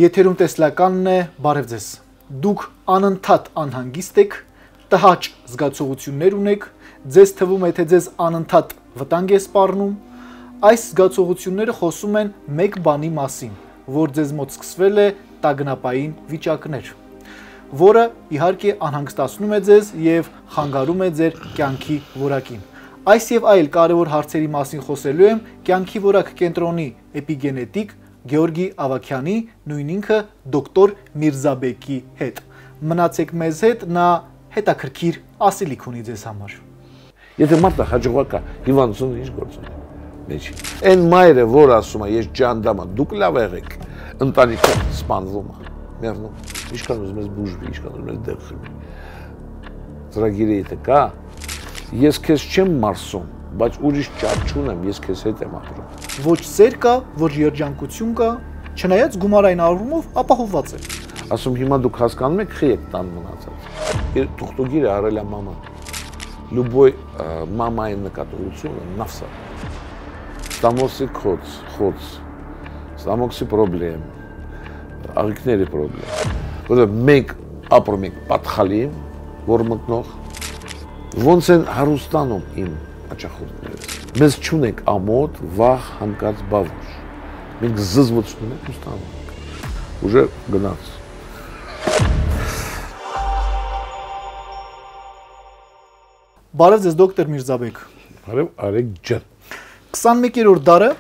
Եթերում տեսլականն է, բարև ձեզ։ Դուք անընդհատ անհանգիստ եք, տհաճ զգացողություններ ունեք, ձեզ թվում է, թե ձեզ անընդհատ վտանգ է սպառնում։ Այս զգացողությունները խոսում են մեկ բանի մասին, որ ձեզ մոտ սկսվել է տագնապային վիճակներ, որը իհարկե անհանգստացնում է ձեզ եւ խանգարում է ձեր կյանքի որակին։ Այս եւ այլ կարևոր հարցերի մասին խոսելու եմ կյանքի որակ կենտրոնի էպիգենետիկ Գեորգի Ավագյանի, նույն ինքը դոկտոր Միրզաբեկի հետ։ Մնացեք մեզ հետ, նա հետաքրքիր ասելիք ունի ձեզ համար։ Եթե մարդը հաջողակ է, հիվանդություն ինչ գործ ունի։ Մեջի։ Այն մայրը, որ ասում է, ես ջանդամ եմ, դուք լավ եղեք, ընտանիքը սպանվում է, մեռնում։ Ինչքան ուզում ես բուժվի, ինչքան ուզում ես դեղ խմի։ Ծրագիրը եթե կա, ես քեզ չեմ մարսում, բայց ուրիշ ճար չունեմ, ես քեզ հետ եմ ապրում։ Ոչ սեր կա, ոչ երջանկություն կա, չնայած գումարային առումով ապահովված է։ Ասում հիմա դուք հասկանում եք, խի եք տան մնացած։ Թուղթուգիրը արել է մաման։ Любой մամայի նկատողությունը նավսա։ Ստամոքսի խոց, ստամոքսի պրոբլեմ, աղիքների պրոբլեմ։ Որտեղ մենք ապրում ենք պատխալիում, որ մտնող ոնց են հարուստանում իմ աճախորդները։ Մեզ չունենք ամոթ, վախ, հանկարծ բավուժ։ Մենք զզվոցում ենք ու ստանում ենք։ Ուժը գնաց։ Բարև ձեզ դոկտոր Միրզաբեկ։ Բարև Արեգ ջան։ 21-րդ դարը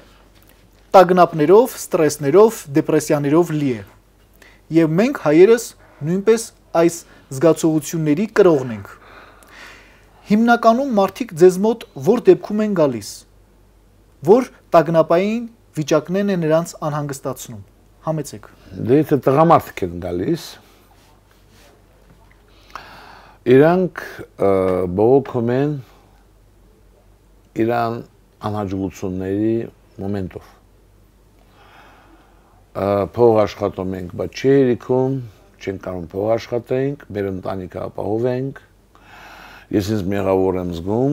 տագնապներով, ստրեսներով, դեպրեսիաներով լի է։ Եվ մենք հայերս նույնպես այս զգացողությունների կրողն ենք։ Հիմնականում մարդիկ ձեզ մոտ որ դեպքում են գալիս, որ տագնապային վիճակներն են նրանց անհանգստացնում։ Համեցեք։ Դե եթե տղամարդիկ են գալիս, իրանք բողոքում են իրան անհաջողությունների մոմենտով։ Փող աշխատում ենք, բայց չի երիքում, չենք կարող փող աշխատենք, մեր ընտանիքը ապահովենք։ Ես ինձ մեղավոր եմ զգում,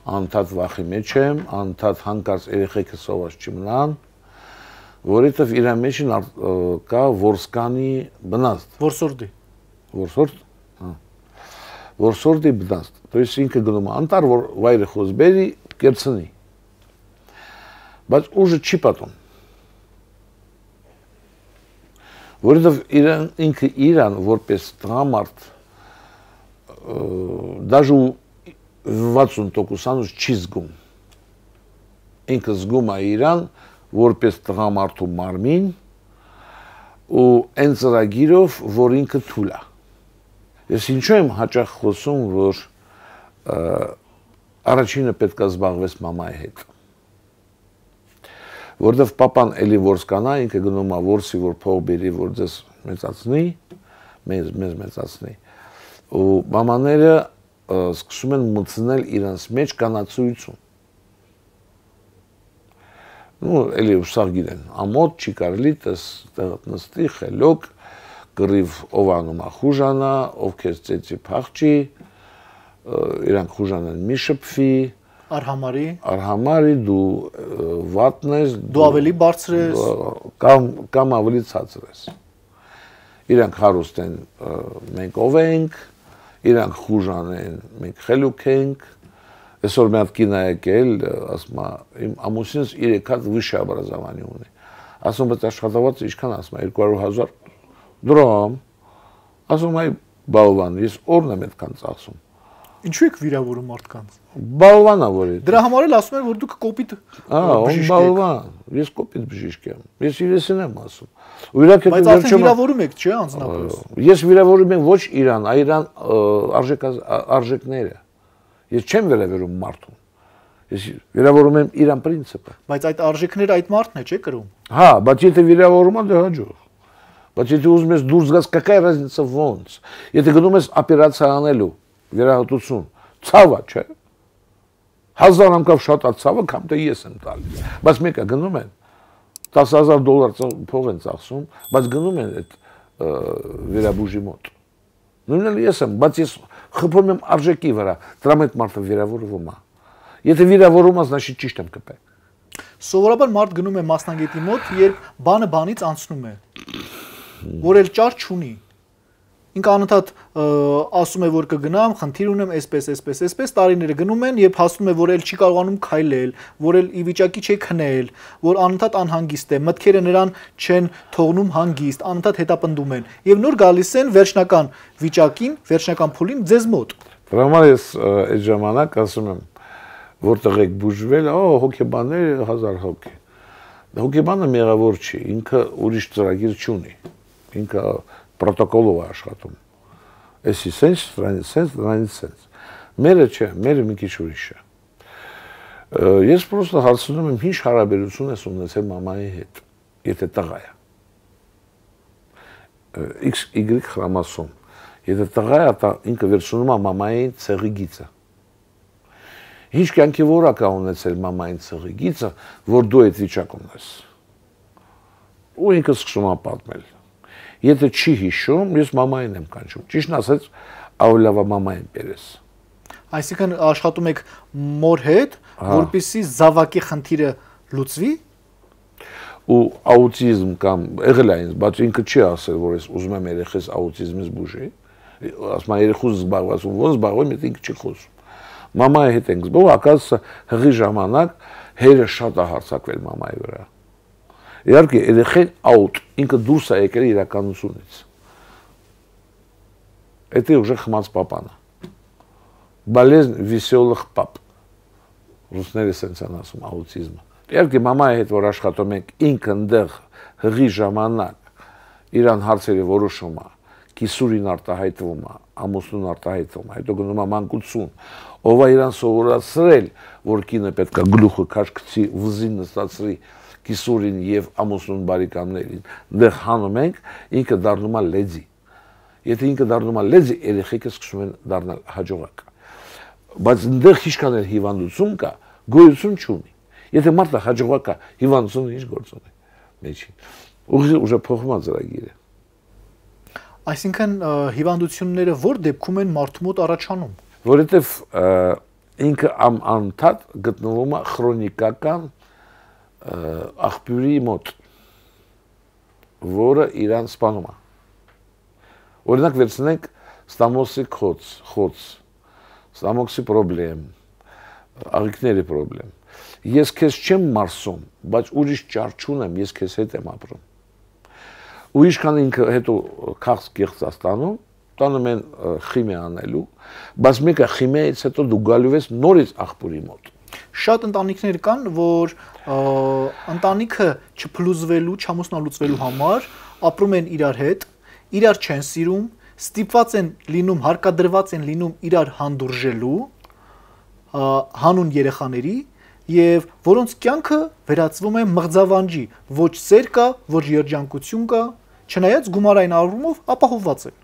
անընդհատ վախի մեջ եմ, անընդհատ հանկարծ երեխեքը սոված չմնան, որովհետև իր մեջ կա որսկանի բնազդ։ Որսորդի։ Որսորդ։ Որսորդի բնազդ։ То есть ինքը գնում է անտար, որ վայրը խոսբերի կերցնի։ Բայց ուժը չի պատում։ Որովհետև ինքը իրան որպես տղամարդ даже 60% չի զգում։ Ինքը զգում է իրան որպես տղամարդու մարմին ու այն ծրագիրով, որ ինքը թույլ է։ Ես ինչու եմ հաճախ խոսում, որ առաջինը պետք է զբաղվես մամայի հետ։ Որովհետև պապան էլի որսկանա, ինքը գնում է որսի, որ փող բերի, որ ձեզ մեծացնի, մեզ մեծացնի։ Ու մամաները սկսում են մտցնել իրանց մեջ կանացույցություն։ Ну, էլի ուսաղ գիտեն, ամոթ չի կարելի նստի, խելոք, կռիվ ով անում է խուժանա, ով քեզ ծեծի փախչի, իրանք խուժանեն մի շփվի, արհամարի դու վատն ես, դու ավելի բարձր ես, կամ ավելի ցածր ես։ Իրանք հարուստ են, մենք ով ենք, իրանք խուժան են, մենք խելուք ենք։ Այսօր մի հատ կին է եկել, ասում է, իմ ամուսինս 3 հատ վիշե образование ունի։ Ասում բայց աշխատավարձը ինչքան ասում է 200,000 դրամ։ Ասում այ բալվան, ես օրն եմ այդքան ծախսում։ Ինչու եք վիրավորում մարդկանց։ Բալվանա որ է։ Դրա համար էլ ասում են, որ դուք կոպիտ բժիշկ եք։ Բալվան, ես կոպիտ բժիշկ եմ։ Ես իրեսին եմ ասում։ Ու իրանք բայց արդեն վիրավորում եք, չէ՞, անձնապես։ Ես վիրավորում եմ ոչ իրան, այլ իրան արժեքները։ Ես չեմ վերաբերում մարդուն։ Ես վիրավորում եմ իրան պրինցիպը։ Բայց այդ արժեքները այդ մարդն է, չէ՞ կրում։ Հա, բայց եթե վիրավորում եմ, դե հաջող։ Բայց եթե ուզում ես դուրս գաս, какая разница ոնց։ Եթե գնում ես օպերացիա անելու, վերահատություն, ցավա, չէ՞։ 1000 անգամ շատ է ցավը, կամ թե ես եմ տալիս։ Բայց մեկը գնում են $10,000 փող են ծախսում, բայց գնում են այդ վերաբուժի մոտ։ Նույնն էլ ես եմ, բայց ես խփում եմ արժեքի վրա, դրա հետ մարդը վիրավորվում է։ Եթե վիրավորում ես, значит ճիշտ եմ կպել։ Սովորաբար մարդ գնում է մասնագետի մոտ, երբ բանը բանից անցնում է, որ էլ ճար չունի։ Ինքը անընդհատ ասում է, որ կգնամ, խնդիր ունեմ, այսպես, տարիները գնում են, երբ հասնում է, որ էլ չի կարողանում քայլել, որ էլ ի վիճակի չի քնել, որ անընդհատ անհանգիստ է, մտքերը նրան չեն թողնում հանգիստ, անընդհատ հետապնդում են, եւ նոր գալիս են վերջնական վիճակին, վերջնական փուլին ձեզ մոտ։ Դրա համար ես այդ ժամանակ ասում եմ, որտեղ եք բուժվել, հոգեբաններ 1000 հոգի։ Հոգեբանը մեղավոր չի, ինքը ուրիշ ծրագիր չունի։ Ինքը պրոտոկոլով է աշխատում։ Էսի սենց, դրանից սենց։ Մերը չէ, մերը մի քիչ ուրիշ է։ Ես պրոստը հարցնում եմ, ինչ հարաբերություն ես ունեցել մամայի հետ, եթե տղա է։ XY խրամասոմ։ Եթե տղա է, ինքը վերցնում է մամայի ցեղի գիծը։ Ինչ կյանքի որակ է ունեցել մամային ցեղի գիծը, որ դու այդ վիճակում ես։ Ու ինքը սկսում է պատմել։ Եթե չի հիշում, ես մամային եմ կանչում։ Ճիշտն ասած, ավելի լավ է մամային բերես։ Այսինքն աշխատում եք մոր հետ, որպեսզի զավակի խնդիրը լուծվի։ Ու աուտիզմ կամ եղել է ինձ, բայց ինքը չի ասել, որ ես ուզում եմ երեխես աուտիզմից բուժի։ Ասում եմ երեխուս զբաղված ու ոնց զբաղվում, եթե ինքը չի խոսում։ Մամայի հետ ենք զբաղվում, ակասը հղի ժամանակ հերը շատ է հարձակվել մամայի վրա։ Իհարկե, երեխեն աուտ, ինքը դուրս է եկել իրականությունից։ Это уже խմած պապան է։ Болезнь веселых пап։ Ռուսները սենց են ասում աուտիզմը։ Իհարկե, մամայի հետ որ աշխատում ենք, ինքը ընդեղ հղի ժամանակ իրան հարցերը որոշում է, կիսուրին արտահայտվում է, ամուսնուն արտահայտվում է, հետո գնում է մանկություն, ով է իրան սովորացրել, որ կինը պետք է գլուխը քաշքցի, վզին նստացրի կիսուրին եւ ամուսնուն բարիկամներին, դեռ հանում ենք, ինքը դառնում է լեզի։ Եթե ինքը դառնում է լեզի, երեխեքը սկսում են դառնալ հաջողակ։ Բայց դեռ ինչքան էլ հիվանդություն կա, գոյություն չունի։ Եթե մարդը հաջողակ է, հիվանդությունը ինչ գործ ունի։ Մեջին։ Ուժը փոխվում է ծրագիրը։ Այսինքն հիվանդությունները որ դեպքում են մարդու մոտ առաջանում։ Որովհետեւ ինքը անընդհատ գտնվում է քրոնիկական աղբյուրի մոտ, որը իրան սպանում է։ Օրինակ վերցնենք ստամոքսի խոց, ստամոքսի պրոբլեմ, աղիքների պրոբլեմ։ Ես քեզ չեմ մարսում, բայց ուրիշ ճար չունեմ, ես քեզ հետ եմ ապրում։ Ու ինչքան ինքը հետո քաղց կեղծ ստանում, տանում են խիմիա անելու, բայց մեկը խիմիայից հետո դու գալու ես նորից աղբյուրի մոտ։ Շատ ընտանիքներ կան, որ ընտանիքը չփլուզվելու, չամուսնալուծվելու համար ապրում են իրար հետ, իրար չեն սիրում, ստիպված են լինում, հարկադրված են լինում իրար հանդուրժելու, հանուն երեխաների, եւ որոնց կյանքը վերածվում է մղձավանջի, ոչ սեր կա, ոչ երջանկություն կա, չնայած գումարային առումով ապահովված են։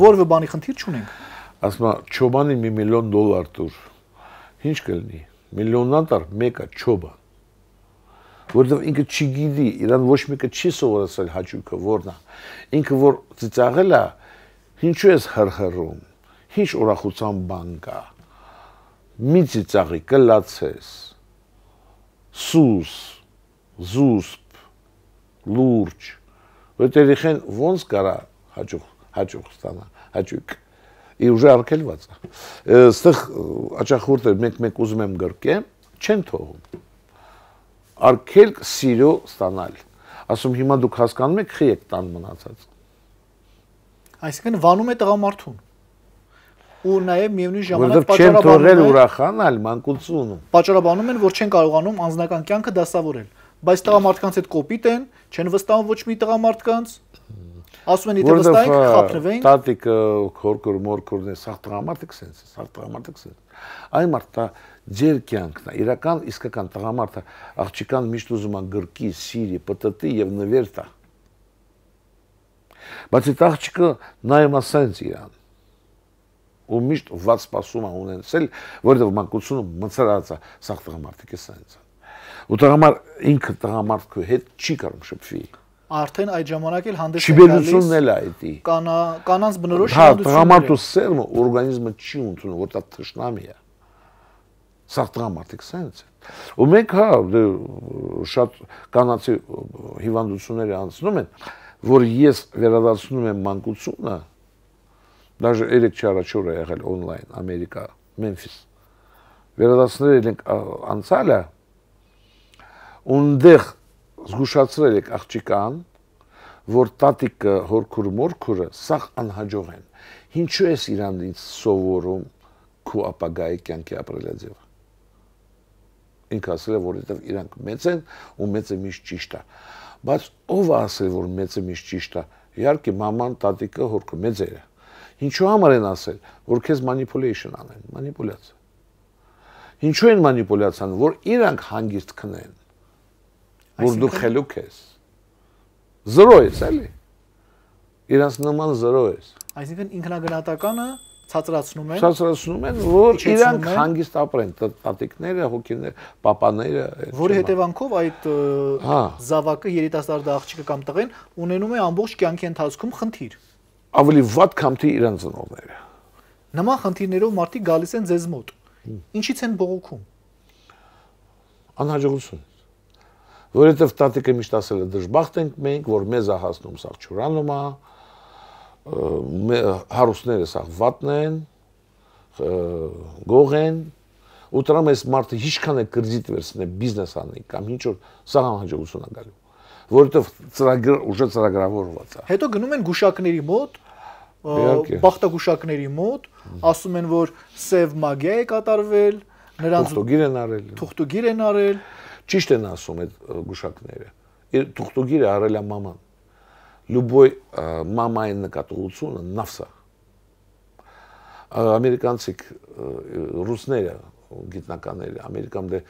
Որևէ բանի խնդիր չունենք։ Ասում եմ, չոբանի $1 միլիոն տուր։ Ինչ կլինի։ Միլիոննան տար մեկը չոբա։ Որովհետև ինքը չգիտի, իրան ոչ մեկը չի սովորացել հաճույքը որն է։ Ինքը որ ծիծաղել է, ինչու ես հրհրում, ինչ ուրախության բան կա։ Մի ծիծաղի կլացես, սուս, զուսպ, լուրջ, որ երեխան ոնց կարա հաճույք ստանա, հաճույք։ Իր ուժը արկելված է։ Այստեղ աճախորտը մեկ ուզում եմ գրկեմ, չեն թողում։ Արկել սիրո ստանալ։ Ասում հիմա դուք հասկանում եք, խի եք տան մնացած։ Այսինքն վանում է տղամարդուն։ Ու նաև միևնույն ժամանակ չեն թողել ուրախանալ մանկությունում։ Պատճառաբանում են, որ չեն կարողանում անձնական կյանքը դասավորել։ Բայց տղամարդկանց հետ կոպիտ են, չեն վստահում ոչ մի տղամարդկանց։ Ասում են, եթե վստահենք, խափնվենք։ Տատիկը, քորքոր, մորքորն է, սաղ տղամարդիկ սենց, սաղ տղամարդիկ սենց։ Այն մարդը ձեր կյանքն է, իրական իսկական տղամարդը աղջիկան միշտ ուզում է գրկի, սիրի, պտտի եւ նվեր տա։ Բայց այդ աղջիկը նայում է սենց իրան։ Ու միշտ ված սպասում է ունեցել, որովհետեւ մանկությունը մցրած է, սաղ տղամարդիկ է սենց։ Ու ինքը տղամարդու հետ չի կարող շփվի։ Արդեն այդ ժամանակ էլ հանդես է գալիս կանանց բնորոշ հիվանդությունները։ Տղամարդու սերմը օրգանիզմը չի ընդունում, որ դա թշնամի է։ Սա տղամարդիկ սենց է։ Ու մենք հա շատ կանացի հիվանդությունները անցնում են, որ ես վերադարձնում եմ մանկությունը, даже 3 չառաջորը եղել օնլայն Ամերիկա, Մեմֆիս։ Վերադարձնել ենք անցյալը, ունդեղ զգուշացրել եք աղջիկան, որ տատիկը, հորքուրը, մորքուրը սաղ անհաջող են։ Ինչու ես իրանից սովորում քու ապագայի կյանքի ապրելաձևը։ Ինքը ասել է, որովհետև իրանք մեծ են ու մեծը միշտ ճիշտ է։ Բայց ով է ասել, որ մեծը միշտ ճիշտ է։ Իհարկե մաման, տատիկը, հորքը մեծերը։ Ինչու համար են ասել, որ քեզ manipulation անեն, մանիպուլյացիա։ Ինչու են մանիպուլյացիան, որ իրանք հանգիստ քնեն, որ դու խելուք ես։ Զրո ես, էլի։ Իրանց նման զրո ես։ Այսինքն ինքնագնահատականը ցածրացնում են։ Ցածրացնում են, որ իրանք հանգիստ ապրեն, տատիկները, հոգիները, պապաները։ Որի հետևանքով այդ զավակը, երիտասարդ աղջիկը կամ տղեն ունենում է ամբողջ կյանքի ընթացքում խնդիր։ Ավելի վատ քամթի իրանց ծնողները։ Նման խնդիրներով մարդիկ գալիս են ձեզ մոտ։ Ինչից են բողոքում։ Անհաջողություն։ Որովհետև տատիկը միշտ ասել է դժբախտ ենք մենք, որ մեզ է հասնում սաղ չուրանում է, հարուստները սաղ վատն են, գող են, ու տրամ այս մարդը ինչքան է կրձիտ վերցնե բիզնես անի կամ ինչ որ սաղ անհաջողություն է գալու, որովհետև ուժը ծրագրավորված է։ Հետո գնում են գուշակների մոտ, բախտագուշակների մոտ, ասում են, որ սև մագիա է կատարվել, նրանց թուղթուգիր են արել։ Ճիշտ են ասում այդ գուշակները։ Թուղթուգիրը արել է մաման։ Любой մամայի նկատողությունը նավսա։ Ամերիկանցիք ռուսները, գիտնականները, Ամերիկայում դե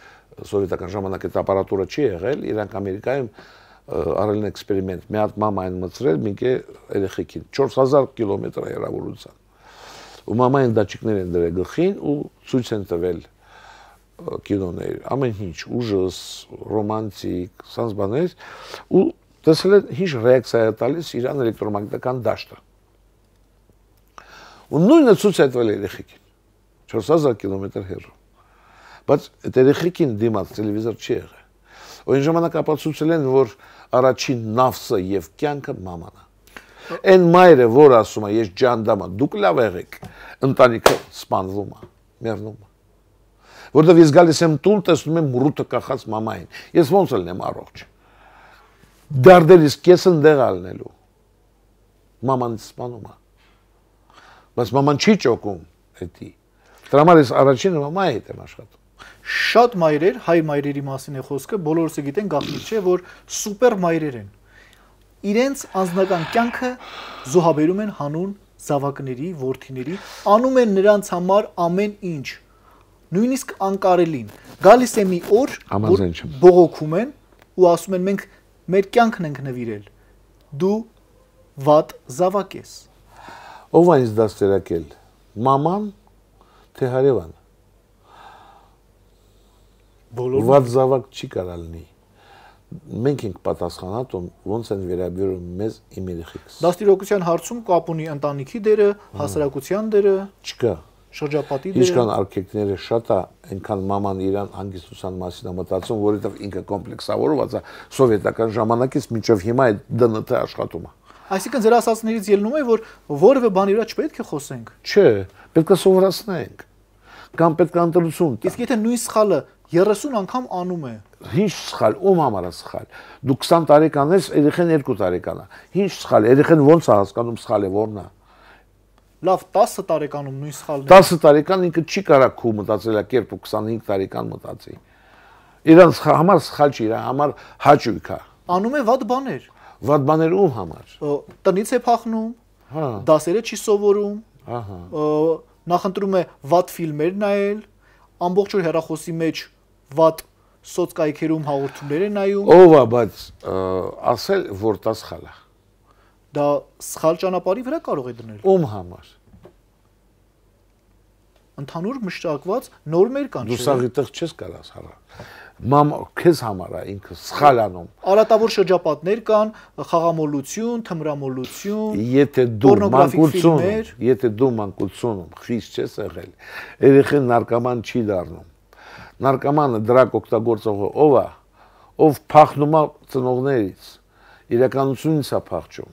սովետական ժամանակ այդ ապարատուրը չի եղել, իրանք Ամերիկայում արել են էքսպերիմենտ, մի հատ մամային մցրել մինքե երեխեքին 4000 կիլոմետր հեռավորության։ Ու մամային դաչիկներ են դրել գլխին ու ցույց են տվել կինոներ, ամեն ինչ, ուժս, ռոմանտիկ, սանց բաներ, ու տեսել են ինչ ռեակցիա է տալիս իրան էլեկտրոմագնիտական դաշտը։ Ու նույնը ցույց է տվել երեխեքին, 4000 կիլոմետր հեռու։ Բայց այդ երեխեքին դիմաց տելևիզոր չի եղել։ Ու այն ժամանակ ապացուցել են, որ առաջին նավսը եւ կյանքը մաման է։ Այն մայրը, որ ասում է, ես ջանդամ եմ, դուք լավ եղեք, ընտանիքը սպանվում է, մեռնում է։ Որտեւ ես գալիս եմ տուն, տեսնում եմ մռութը կախած մամային։ Ես ոնց ելնեմ առողջ։ Դարդերից կեսն դեղ ալնելու։ Մաման սպանում է։ Բայց մաման չի ճոկում էդի։ Դրա համար ես առաջինը մամայի հետ եմ աշխատում։ Շատ մայրեր, հայ մայրերի մասին է խոսքը, բոլորս գիտեն գաղտնիք չէ, որ սուպեր մայրեր են։ Իրենց անձնական կյանքը զոհաբերում են հանուն զավակների, որդիների, անում են նրանց համար ամեն ինչ, նույնիսկ անկարելին։ Գալիս է մի օր, որ բողոքում են ու ասում են մենք մեր կյանքն ենք նվիրել։ Դու վատ զավակ ես։ Ով է ինձ դաստիարակել։ Մաման, թե հարևանը։ Վատ զավակ չի կարա լինի։ Մենք ենք պատասխանատու ոնց են վերաբերում մեզ իմ երեխեքս։ Դաստիարակության հարցում կապ ունի ընտանիքի դերը, հասարակության դերը, չկա։ Շրջապատի դերը։ Ինչքան արգելքները շատ է, այնքան մաման իրան հանգստության մասին է մտածում, որովհետև ինքը կոմպլեքսավորված է սովետական ժամանակից մինչև հիմա այդ ԴՆԹ աշխատում է։ Այսինքն ձեր ասածներից ելնում է, որ որևէ բանի վրա չպետք է խոսենք։ Չէ, պետք է սովորացնենք։ Կամ պետք է ընտրություն տա։ Իսկ եթե նույն սխալը 30 անգամ անում է։ Ինչ սխալ, ում համար է սխալ։ Դու 20 տարեկան ես, երեխան 2 տարեկան է։ Ինչ սխալ, երեխան ո՞նց է հասկանում սխալը որն է։ Լավ, 10 տարեկանում նույն սխալն է։ 10 տարեկան ինքը չի կարա քու մտածելակերպ ու 25 տարեկան մտածի։ Իրանց համար սխալ չի, իր համար հաճույք է։ Անում է վատ բաներ։ Վատ բաներ ում համար։ Տնից է փախնում, դասերը չի սովորում, նախընտրում է վատ ֆիլմեր նայել, ամբողջ օր հեռախոսի մեջ վատ սոցկայքերում հաղորդումներ է նայում։ Ով է, բայց ասել, որ դա սխալ է։ Դա սխալ ճանապարհի վրա կարող է դնել։ Ում համար։ Ընդհանուր մշակված նորմեր կան։ Դու սաղի տեղ չես կարաս հարա։ Մամա քեզ համար է ինքը սխալ անում։ Արատավոր շրջապատներ կան, խաղամոլություն, թմրամոլություն, եթե դու մանկությունում խիստ չես եղել, երեխան նարկոման չի դառնում։ նարկոմանը դրակ օգտագործողը ով է, ով փախնում է ծնողներից, իրականությունից է փախչում,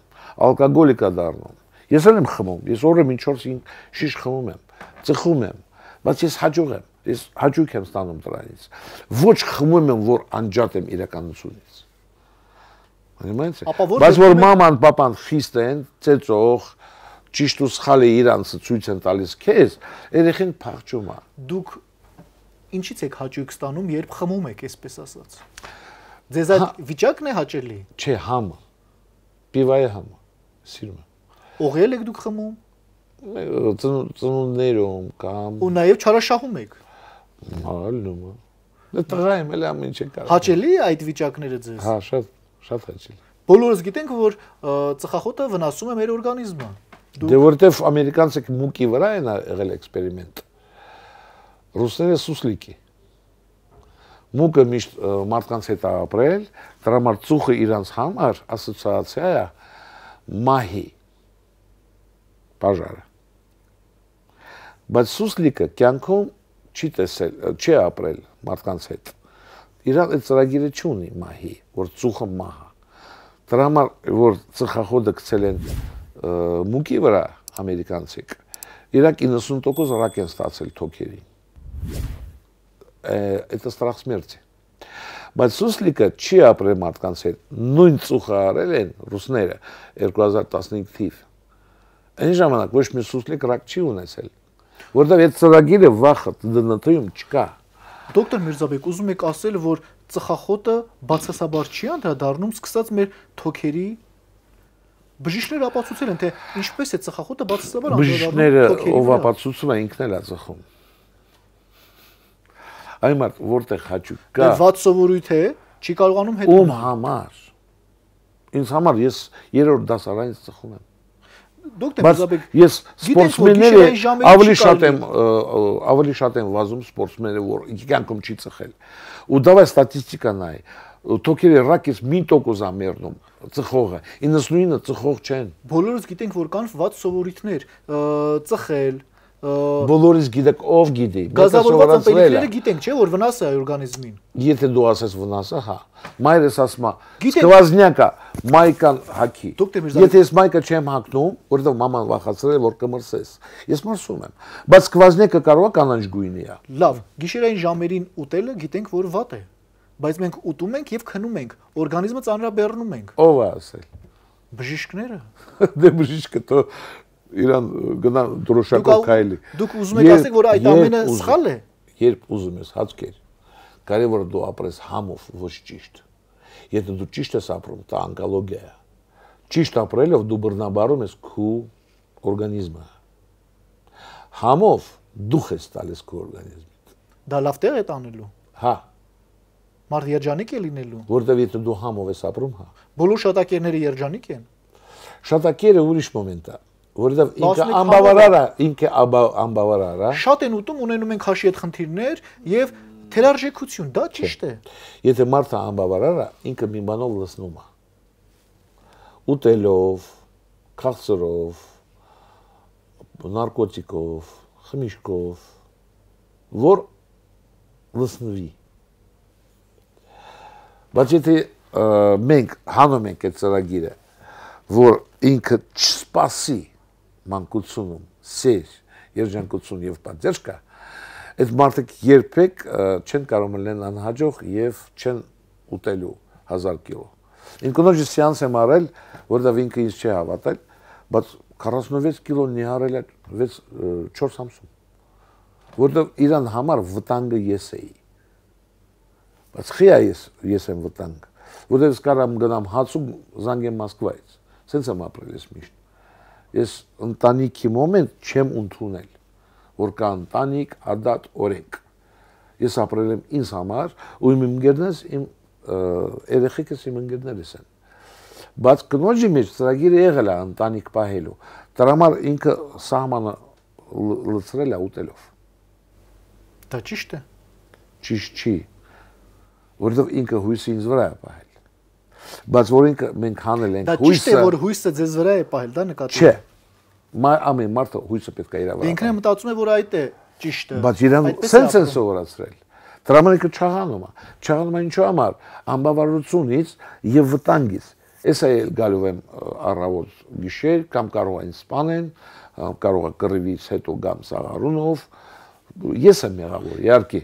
ալկոգոլիկ է դառնում։ Ես էլ եմ խմում, ես օրը մինչ 4-5 շիշ խմում եմ, ծխում եմ, բայց ես հաջող եմ, ես հաճույք եմ ստանում դրանից։ Ոչ խմում եմ, որ անջատ եմ իրականությունից։ Բայց որ մաման, պապան խիստ են, ծեծող, ճիշտ ու սխալը իրանցը ցույց են տալիս քեզ, երեխեն փախչում է։ Դուք ինչից եք հաճույք ստանում, երբ խմում եք, այսպես ասած։ Ձեզ այդ վիճակն է հաճելի։ Չէ, համը։ Պիվայի համը։ Սիրում եմ։ Օղել եք դուք խմում։ Ծնունդներում կամ ու նաև չարաշահում եք։ Ալնում է։ Դե տղա եմ, էլ ամեն ինչ կարող։ Հաճելի է այդ վիճակները ձեզ։ Հա, շատ հաճելի։ Բոլորս գիտենք, որ ծխախոտը վնասում է մեր օրգանիզմը։ Դե որտեվ ամերիկանցը մուկի վրա են եղել էքսպերիմենտ։ Ռուսները սուսլիկի։ Մուկը միշտ մարդկանց հետ ապրել, դրա համար ծուխը իրանց համար ասոցիացիա է մահի բաժարը։ Բայց սուսլիկը կյանքում չի տեսել, չի ապրել մարդկանց հետ։ Իրան այդ ծրագիրը չունի մահի, որ ծուխը մահ է։ Դրա համար որ ծխախոտը գցել են մուկի վրա ամերիկանցիք, իրանք 90% ռակ են ստացել թոքերին։ Это страх смерти։ Բայց սուսլիկը չի ապրել մարդկանց հետ, նույն ծուխը արել են ռուսները 2015 թիվ։ Այն ժամանակ ոչ մի սուսլիկ ռակ չի ունեցել, որտեղ այդ ծրագիրը վախը ԴՆԹ-ում չկա։ Դոկտոր Միրզաբեկ, ուզում եք ասել, որ ծխախոտը բացասաբար չի անդրադառնում, սկսած մեր թոքերի բժիշկները ապացուցել են, թե ինչպես է ծխախոտը բացասաբար անդրադառնում թոքերի։ Բժիշկները ով ապացուցում է, ինքն էլ է ծխում։ Այն մարդ որտեղ հաճույք կա։ Դե վատ սովորույթ է, չի կարողանում հետ։ Ում համար։ Ինձ համար ես 3-րդ դասարանից ծխում եմ։ Դոկտոր Միրզաբեկ, ես սպորտսմենները ավելի շատ եմ վազում սպորտսմենները, որ կյանքում չի ծխել։ Ու դավայ ստատիստիկա նայ։ Թոքերի ռակից 1% է մեռնում ծխողը, 99-ը ծխող չեն։ Բոլորս գիտենք, որ կան վատ սովորույթներ, ծխել, բոլորից գիտեք, ով գիտի։ Գազավորված ըմպելիքները գիտենք, չէ՞, որ վնաս է օրգանիզմին։ Եթե դու ասես վնասը, հա։ Մայրս ասում է, սկվազնյակա, մայկան հակի։ Եթե ես մայկը չեմ հակնում, որովհետև մաման վախացրել է, որ կմրսես։ Ես մրսում եմ։ Բայց սկվազնյակը կարող է կանաչ գույնի է։ Լավ, գիշերային ժամերին ուտելը գիտենք, որ վատ է։ Բայց մենք ուտում ենք եւ քնում ենք, օրգանիզմը ծանրաբեռնում ենք։ Ով է ասել։ Բժիշկները։ Դե բժիշկը то իրան գնա դրոշակով քայլի։ Դուք ուզում եք ասեք, որ այդ ամենը սխալ է։ Երբ ուզում ես հացկեր, կարևորը դու ապրես համով, ոչ ճիշտ։ Եթե դու ճիշտ ես ապրում, դա ոնկոլոգիա է։ Ճիշտ ապրելով դու բռնաբարում ես քո օրգանիզմը։ Համով դուխ ես տալիս քո օրգանիզմին։ Դա լավ տեղ է տանելու։ Հա։ Մարդ երջանիկ է լինելու։ Որտեվ եթե դու համով ես ապրում, հա։ Բոլոր շատակերները երջանիկ են։ Շատակերը ուրիշ մոմենտ է։ Որովհետև ինքը անբավարար է, ինքը անբավարար է։ Շատ են ուտում, ունենում են քաշի հետ խնդիրներ եւ թերարժեքություն, դա ճիշտ է։ Եթե մարդը անբավարար է, ինքը մի բանով լցնում է։ Ուտելով, քաղցրով, նարկոտիկով, խմիչքով, որ լցնվի։ Բայց եթե մենք հանում ենք այդ ծրագիրը, որ ինքը չսպասի մանկությունում, սեր, երջանկություն եւ պատերժ կա, այդ մարդիկ երբեք չեն կարող լինել անհաջող եւ չեն ուտելու 1000 կիլո։ Ինքնոջ սեանս եմ արել, որտեղ ինքը ինձ չի հավատել, բայց 46 կիլո նիհարել է 4 ամսում։ Որտեղ իրան համար վտանգը ես էի։ Բայց խիա ես եմ վտանգ, որտեղ ես կարամ գնամ հացում զանգեմ Մոսկվայից։ Սենց եմ ապրել ես միշտ։ Ես ընտանիքի մոմենտ չեմ ընդունել, որ կա ընտանիք, ադատ, օրենք։ Ես ապրել եմ ինձ համար, ու իմ ընկերներս, իմ երեխեքս իմ ընկերներս են։ Բայց կնոջի մեջ ծրագիրը եղել է ընտանիք պահելու։ Դրա համար ինքը սահմանը լցրել է ուտելով։ Դա ճիշտ է։ Ճիշտ չի, որովհետև ինքը հույսը ինձ վրա է պահել։ Բայց որ ինքը մենք հանել ենք հույսը։ Դա ճիշտ է, որ հույսը ձեզ վրա է պահել, դա նկատի։ Չէ։ Ամեն մարդը հույսը պետք է իր վրա։ Ինքն է մտածում է, որ այդ է ճիշտը։ Բայց իրան սենց են սովորացրել։ Դրա համար ինքը չաղանում է։ Չաղանում է ինչու համար, անբավարարությունից եւ վտանգից։ Ես այլ գալու եմ առավոտ գիշեր կամ կարող են սպանեն, կարող է կռվից հետո գամ Սաղարունով, ես եմ մեղավոր, իհարկե,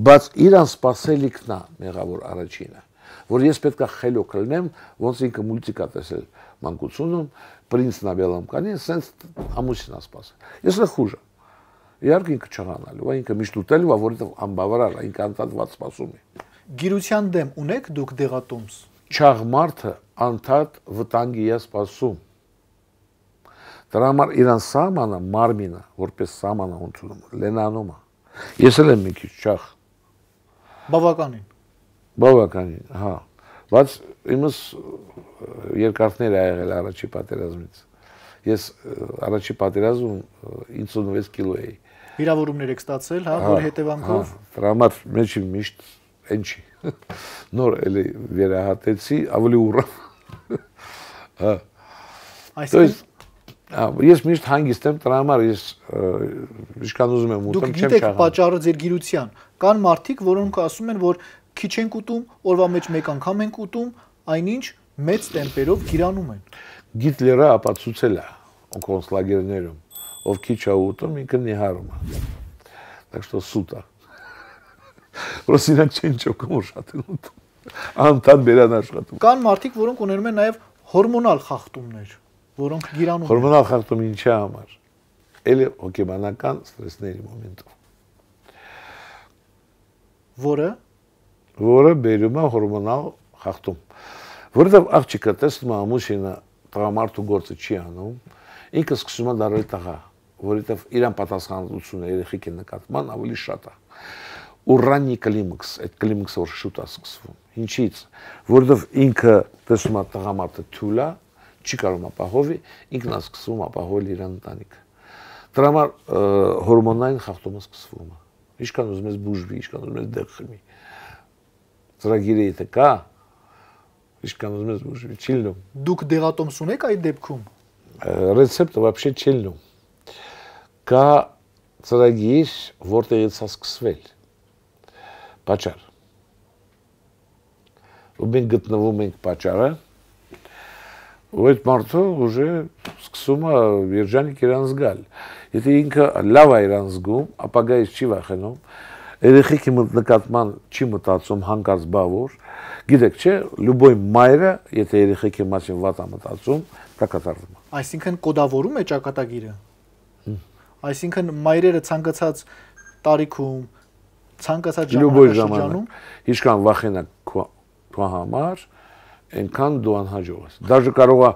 բայց իրան սпасելիքն է մեղավոր առաջինը, որ ես պետք է խելոք լինեմ, ոնց ինքը մուլտիկա տեսել մանկությունում, Պրինցն աբելամ կանին, սենց ամուսինա սпасել։ Ես էլ խուժը։ Իհարկե ինքը չղանալու, ինքը միշտ ուտելու է, որովհետև անբավարար է, ինքը անդադված սпасում է։ Գիրության դեմ ունեք դուք դեղատոմս։ Չաղ մարդը անդադ վտանգի է սпасում։ Դրա համար իրան սահմանը մարմինը, որպես սահմանը ընդունում, լենանում է։ Ես էլ եմ մի քիչ չաղ։ Բավականին։ Բավականին, հա։ Բայց իմս երկարքներ է եղել առաջի պատերազմից։ Ես առաջի պատերազմում 56 կիլո էի։ Վիրավորումներ եք ստացել, հա, որ հետևանքով։ Դրա համար մեջի միշտ այն չի։ Նոր էլի վերահատեցի, ավելի ուռամ։ Հա։ Այսինքն ես միշտ հանգիստ եմ, դրա համար ես ինչքան ուզում եմ ուտեմ, չեմ չաղանում։ Դուք գիտեք պատճառը ձեր գիրության։ Կան մարդիկ, որոնք ասում են, որ քիչ ենք ուտում, օրվա մեջ մեկ անգամ ենք ուտում, այնինչ մեծ տեմպերով գիրանում են։ Գիտլերը ապացուցել է կոնցլագերներում, ով քիչ է ուտում, ինքը նիհարում է։ Так что սուտ է։ Որոս իրանք չեն ճոքում, որ շատ են ուտում։ Անդադ բերան աշխատում։ Կան մարդիկ, որոնք ունենում են նաև հորմոնալ խախտումներ, որոնք գիրանում են։ Հորմոնալ խախտում ինչի համար։ Էլի հոգեբանական ստրեսների մոմենտով։ Որը բերում է հորմոնալ խախտում։ Որովհետև աղջիկը տեսնում է ամուսինը տղամարդու գործը չի անում, ինքը սկսում է դառել տղա, որովհետև իրան պատասխանատվությունը երեխեքի նկատմամբ ավելի շատ է։ Ու ռանի կլիմաքս, այդ կլիմաքսը որ շուտ է սկսվում։ Ինչի՞ց, որովհետև ինքը տեսնում է տղամարդը թույլ է, չի կարող ապահովի, ինքն է սկսում ապահովել իր ընտանիքը։ Դրա համար հորմոնային խախտումը սկսվում է։ Ինչքան ուզում ես բուժվի, ինչքան ուզում ես դեղ խմի։ Ծրագիրը եթե կա, ինչքան ուզում ես բուժվի, չի լինում։ Դուք դեղատոմս ունեք այդ դեպքում։ Ռեցեպտը вообще չի լինում։ Կա ծրագիր, որտեղից է սկսվել։ Պատճառ։ Ու մենք գտնվում ենք պատճառը, ու այդ մարդը ուժը սկսում է երջանիկ իրան զգալ։ Եթե ինքը լավ է իրան զգում, ապագայից չի վախենում, երեխեքի նկատմամբ չի մտածում հանկարծ բավոր, գիտեք չէ, լուբոյ մայրը, եթե երեխեքի մասին վատ է մտածում, դա կատարվում է։ Այսինքն կոդավորում է ճակատագիրը։ Այսինքն մայրերը ցանկացած տարիքում, ցանկացած ժամանակաշրջանում ինչքան վախենա քո համար, այնքան դու անհաջող ես։ Դաժե կարող է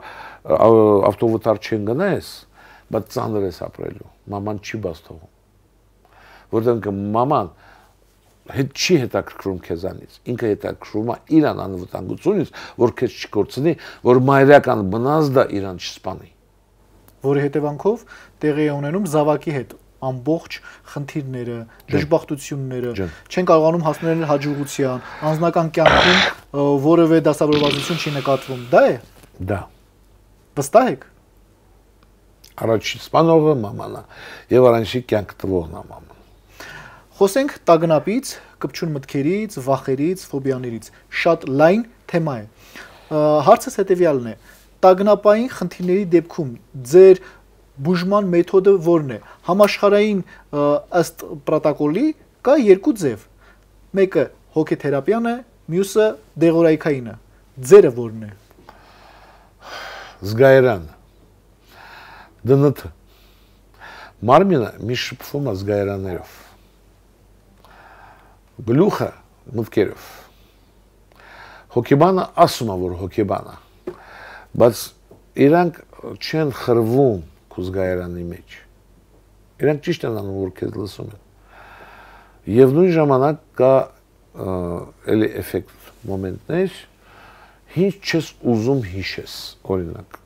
ավտովթար չեն գնաես, բայց ծանր ես ապրելու։ Մաման չի բաց թողում։ Որտեղ մաման հետ չի հետաքրքրում քեզանից, ինքը հետաքրքրում է իրան անվտանգությունից, որ քեզ չկորցնի, որ մայրական բնազդը իրան չսպանի։ Որի հետևանքով տեղի է ունենում զավակի հետ ամբողջ խնդիրները, դժբախտությունները, չեն կարողանում հասնել հաջողության, անձնական կյանքում որևէ դասավորվածություն չի նկատվում, դա է։ Դա։ Վստահ եք։ Առաջի սպանողը մաման է, եւ առաջի կյանք տվողն է մաման։ Խոսենք տագնապից, կպչուն մտքերից, վախերից, ֆոբիաներից։ Շատ լայն թեմա է։ Հարցս հետևյալն է. տագնապային խնդիրների դեպքում ձեր բուժման մեթոդը որն է։ Համաշխարհային ըստ պրոտոկոլի կա երկու ձև։ Մեկը հոգեթերապիան է, մյուսը դեղորայքայինը։ Ձերը որն է։ Զգայարանը։ ԴՆԹ։ Մարմինը մի շփվում է զգայարաններով։ Գլուխը մտքերով։ Հոգեբանը ասում է, որ հոգեբան է, բայց իրանք չեն խրվում քո զգայարանի մեջ։ Իրանք ճիշտ են անում, որ քեզ լսում են։ Եվ նույն ժամանակ կա էլի էֆեկտ մոմենտներ, ինչ չես ուզում հիշես, օրինակ։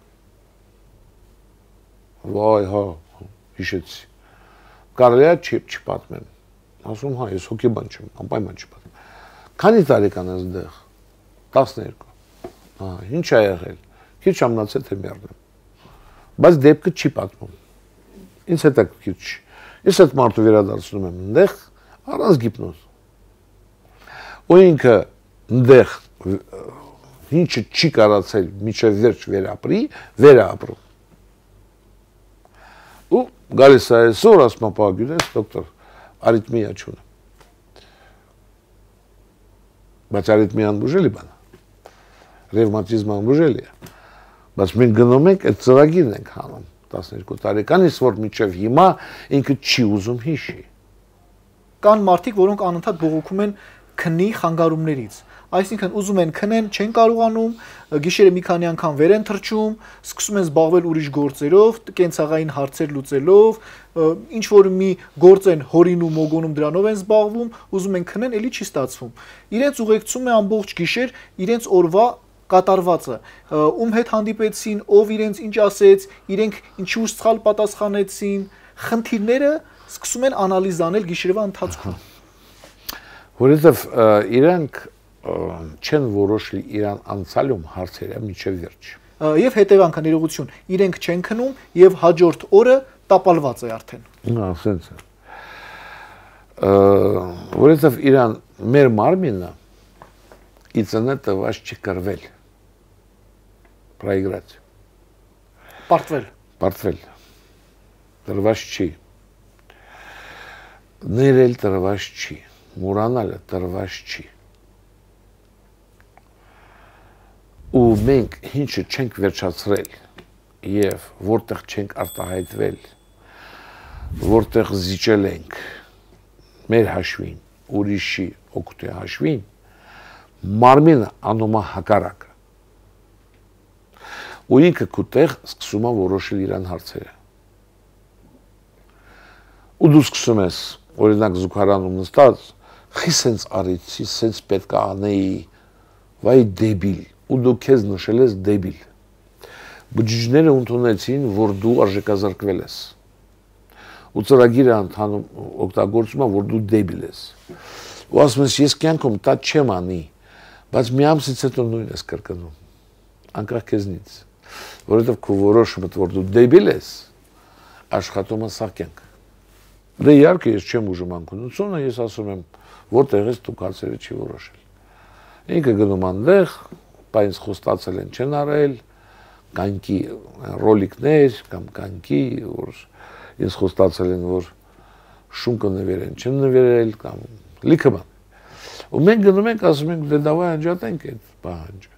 Վայ, հա, հիշեցի։ Կարելի է չպատմեմ։ Ասում հա, ես հոգեբան չեմ, անպայման չպատմեմ։ Քանի տարեկան ես դեղ։ 12։ Հա, ինչ է եղել։ Քիչ ամնացել թե մեռնեմ։ Բայց դեպքը չի պատմում։ Ինձ հետաքրքիր չի։ Ես այդ մարդու վերադարձնում եմ այնտեղ առանց գիպնոզ։ ու ինքը այնտեղ ինչը չի կարացել միջև վերջ վերապրում։ Ու գալիս է այսօր, ասում է, պահագյունես, դոկտոր, արիթմիա չունեմ։ Բայց արիթմիան բուժելի բան է, ռևմատիզմը բուժելի է, բայց մենք գնում ենք, այդ ծրագիրն ենք հանում 12 տարեկանից, որ մինչև հիմա ինքը չի ուզում հիշի։ Կան մարդիկ, որոնք անընդհատ բողոքում են քնի խանգարումներից, այսինքն ուզում են քնեն, չեն կարողանում, գիշերը մի քանի անգամ վեր են թռչում, սկսում են զբաղվել ուրիշ գործերով, կենցաղային հարցեր լուծելով, ինչ որ մի գործ են հորինում, մոգոնում, դրանով են զբաղվում, ուզում են քնեն, էլի չի ստացվում։ Իրենց ուղեկցում է ամբողջ գիշեր իրենց օրվա կատարվածը, ում հետ հանդիպեցին, ով իրենց ինչ ասեց, իրենք ինչու սխալ պատասխանեցին, խնդիրները սկսում են անալիզ անել գիշերվա ընթացքում։ Որովհետև իրանք չեն որոշել իրան անցալում հարցերը մինչև վերջ։ Եվ հետևանքը ներողություն, իրենք չեն քնում եւ հաջորդ օրը տապալված է արդեն։ Ասենց է։ Որովհետև իրան մեր մարմինը իցնե տված չի կրվել։ Проиграть։ Պարտվել։ Տրված չի։ Ներել տրված չի։ Մոռանալը տրված չի։ Ու մենք ինչը չենք վերջացրել եւ որտեղ չենք արտահայտվել, որտեղ զիջել ենք մեր հաշվին, ուրիշի օգուտի հաշվին, մարմինը անում է հակառակը։ Ու ինքը կուտեղ սկսում է որոշել իրան հարցերը։ Ու դու սկսում ես, օրինակ զուգարանում նստած, խի սենց արիցի, սենց պետք է անեի, վայ դեբիլ, ու դու քեզ նշել ես դեբիլ։ Բջիջները ընդունեցին, որ դու արժեքազրկվել ես։ Ու ծրագիրը ընդհանում օգտագործում է, որ դու դեբիլ ես։ Ու ասում ես, ես կյանքում դա չեմ անի, բայց մի ամսից հետո նույնն ես կրկնում, անկախ քեզնից, որովհետև քո որոշումը, որ դու դեբիլ ես, աշխատում է սաղ կյանք։ Դե իհարկե ես չեմ ուժում անկունությունը, ես ասում եմ, որտեղ ես դու հարցերը չի որոշել։ Ինքը գնում անտեղ, բա ինձ խոստացել են չեն արել, կանքի ռոլիկներ կամ կանքի, որ ինձ խոստացել են, որ շունկը նվերեն, չեն նվերել կամ լիքը բան։ Ու մենք գնում ենք, ասում ենք, դե դավայ անջատենք այդ պահանջը։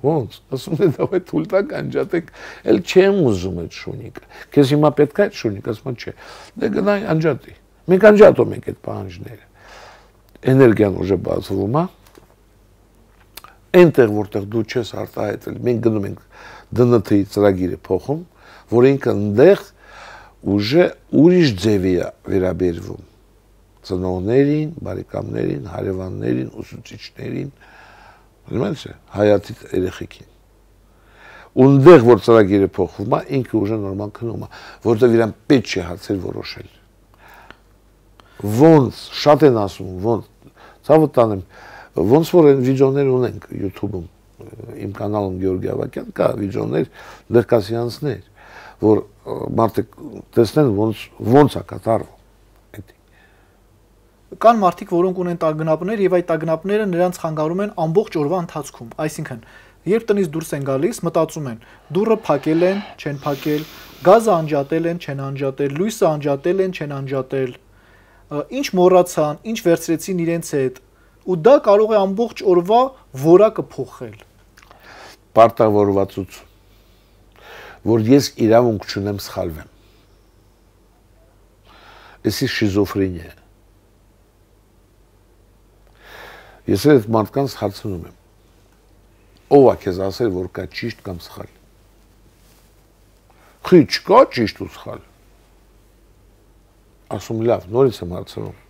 Ոնց, ասում եմ, դավայ թույլ տաք անջատենք, էլ չեմ ուզում այդ շունիկը։ Քեզ հիմա պետք է այդ շունիկը, ասում եմ, չէ։ Դե գնայ անջատի։ Մենք անջատում ենք այդ պահանջները։ Էներգիան ուժը բացվում է։ Այնտեղ որտեղ դու չես արտահայտվել, մենք գնում ենք ԴՆԹ-ի ծրագիրը փոխում, որ ինքը այնտեղ ուժը ուրիշ ձևի է վերաբերվում ծնողներին, բարեկամներին, հարևաններին, ուսուցիչներին, հայացի երեխեքին։ Ունդեղ որ ծրագիրը փոխվում է, ինքը ուժը նորմալ քնում է, որտեղ իրան պետք չի հարցեր որոշել։ Ոնց, շատ են ասում, ոնց, ցավը տանեմ, ոնց որ այն վիդեոներ ունենք YouTube-ում, իմ կանալում Գեորգի Ավակյան կա վիդեոներ, դեռ կա սեանսներ, որ մարդիկ տեսնեն ոնց է կատարվում։ Կան մարդիկ, որոնք ունեն տագնապներ եւ այդ տագնապները նրանց խանգարում են ամբողջ օրվա ընթացքում, այսինքն երբ տնից դուրս են գալիս, մտածում են, դուռը փակել են, չեն փակել, գազը անջատել են, չեն անջատել, լույսը անջատել են, չեն անջատել, ինչ մոռացան, ինչ վերցրեցին իրենց հետ, ու դա կարող է ամբողջ օրվա որակը փոխել։ Պարտավորվածություն, որ ես իրավունք չունեմ սխալվեմ։ Էսի շիզոֆրենիա է։ Ես այդ մարդկանց հարցնում եմ, ով է քեզ ասել, որ կա ճիշտ կամ սխալ։ Խի չկա ճիշտ ու սխալ։ Ասում լավ, նորից եմ հարցնում,